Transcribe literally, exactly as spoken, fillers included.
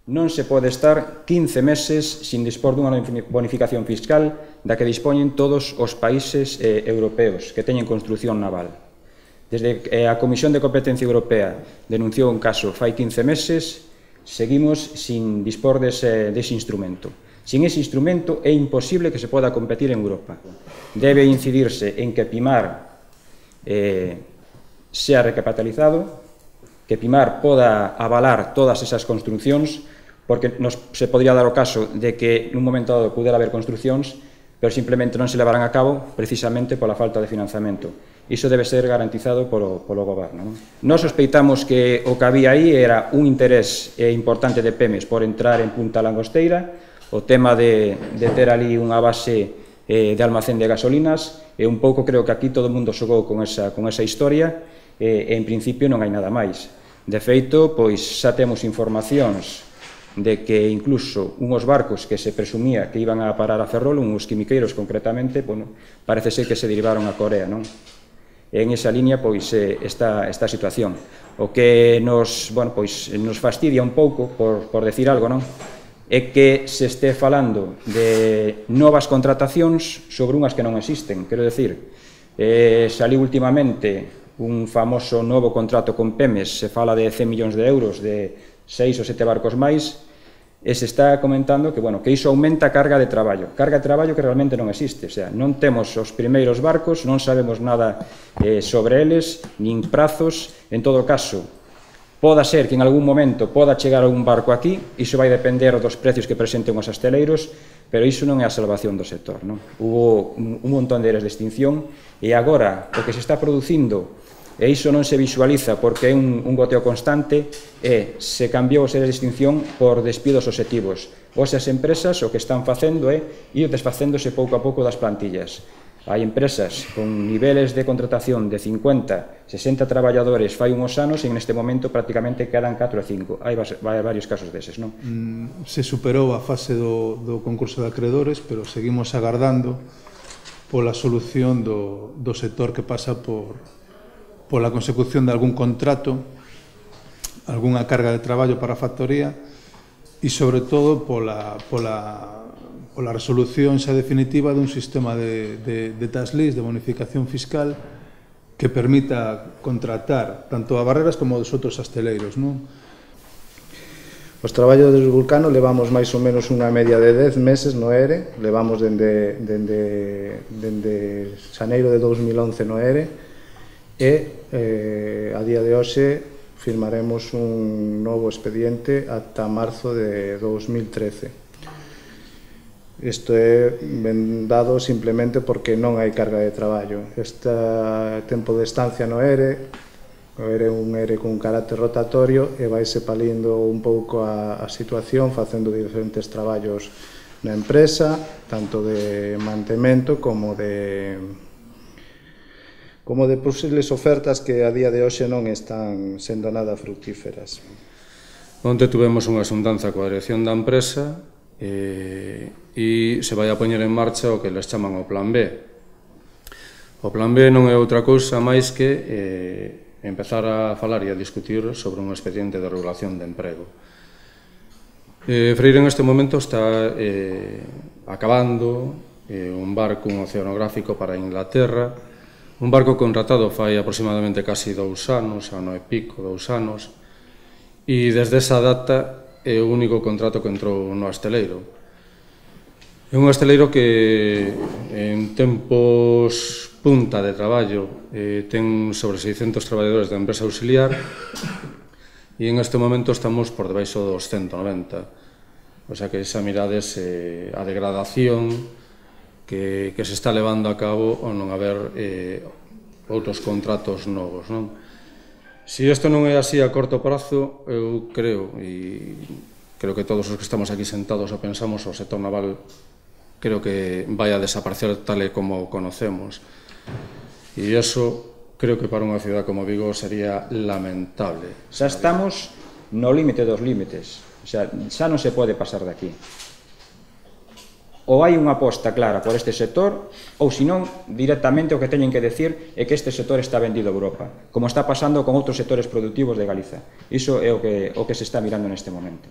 Non se pode estar quince meses sin dispor dunha bonificación fiscal da que dispoñen todos os países eh, europeos que teñen construción naval. Desde que a Comisión de Competencia Europea denunciou un caso fai quince meses, seguimos sin dispor dese, dese instrumento. Sin ese instrumento é imposible que se poda competir en Europa. Debe incidirse en que Pimar eh, sea recapitalizado, que Pimar poda avalar todas esas construcións, porque nos, se podría dar o caso de que nun momento dado pudera haber construcións, pero simplemente non se levarán a cabo precisamente pola falta de financiamento. Iso debe ser garantizado polo, polo goberno. Non? Nos sospeitamos que o que había aí era un interés eh, importante de Pemex por entrar en Punta Langosteira, o tema de, de ter ali unha base eh, de almacén de gasolinas, e un pouco creo que aquí todo o mundo xogou con esa, con esa historia, e, e en principio non hai nada máis. De feito, pois xa temos informacións de que incluso unhos barcos que se presumía que iban a parar a Ferrol, uns quimiqueiros concretamente, bueno, parece ser que se derivaron a Corea, non? E en esa línea, pois, eh, está esta situación. O que nos, bueno, pois, nos fastidia un pouco, por, por decir algo, non? É que se este falando de novas contratacións sobre unhas que non existen. Quero decir, eh, saliu últimamente un famoso novo contrato con Pemex, se fala de cen millóns de euros, de seis ou sete barcos máis, e se está comentando que, bueno, que iso aumenta a carga de traballo. Carga de traballo que realmente non existe, o sea, non temos os primeiros barcos, non sabemos nada eh, sobre eles, nin prazos. En todo caso, poda ser que en algún momento poda chegar un barco aquí, iso vai depender dos precios que presenten os asteleiros, pero iso non é a salvación do sector, non? Hubo un, un montón de eres de extinción, e agora o que se está producindo, e iso non se visualiza porque é un, un goteo constante, e se cambiou os eres de extinción por despidos obxectivos. Os as empresas o que están facendo é ir desfacéndose pouco a pouco das plantillas. Hai empresas con niveles de contratación de cincuenta, sesenta traballadores fai unhos anos, e neste momento prácticamente quedan catro ou cinco. Hai varios casos deses, non? Mm, se superou a fase do, do concurso de acreedores, pero seguimos agardando pola solución do, do sector que pasa por pola consecución de algún contrato, algunha carga de traballo para a factoría, e sobre todo pola, pola, pola resolución xa definitiva dun sistema de, de, de tax list, de bonificación fiscal, que permita contratar tanto a Barreras como aos outros asteleiros, non? Os traballos do Vulcano levamos máis ou menos unha media de dez meses no E R E, levamos dende, dende, dende xaneiro de dous mil once no E R E, e eh, a día de hoxe firmaremos un novo expediente ata marzo de dous mil trece. Isto é ben dado simplemente porque non hai carga de traballo. Este tempo de estancia no E R E, o E R E é un E R E con carácter rotatorio, e vaise palindo un pouco a, a situación facendo diferentes traballos na empresa, tanto de mantemento como de como de posibles ofertas que a día de hoxe non están sendo nada fructíferas. Onte tuvemos unha xuntanza coa dirección da empresa e, e se vai a poñer en marcha o que les chaman o plan B. O plan B non é outra cousa máis que eh, empezar a falar e a discutir sobre un expediente de regulación de emprego. Eh, Freire neste momento está eh, acabando eh, un barco, un oceanográfico para Inglaterra, un barco contratado fai aproximadamente casi dous anos, ano e pico, dous anos, e desde esa data é o único contrato que entrou no asteleiro. É un asteleiro que en tempos punta de traballo eh, ten sobre seiscentos traballadores da empresa auxiliar, e en este momento estamos por debaixo dos ciento noventa. O sea que esa mirades eh, a degradación Que, que se está levando a cabo ao non haber eh, outros contratos novos, non? Se isto non é así a corto prazo, eu creo, e creo que todos os que estamos aquí sentados o pensamos, o sector naval creo que vai a desaparecer tal e como conocemos. E iso creo que para unha cidade como Vigo sería lamentable. Xa estamos no límite dos límites, o sea, xa non se pode pasar de aquí. Ou hai unha aposta clara por este sector, ou senón, directamente o que teñen que decir é que este sector está vendido a Europa, como está pasando con outros sectores productivos de Galiza. Iso é o que, o que se está mirando neste momento.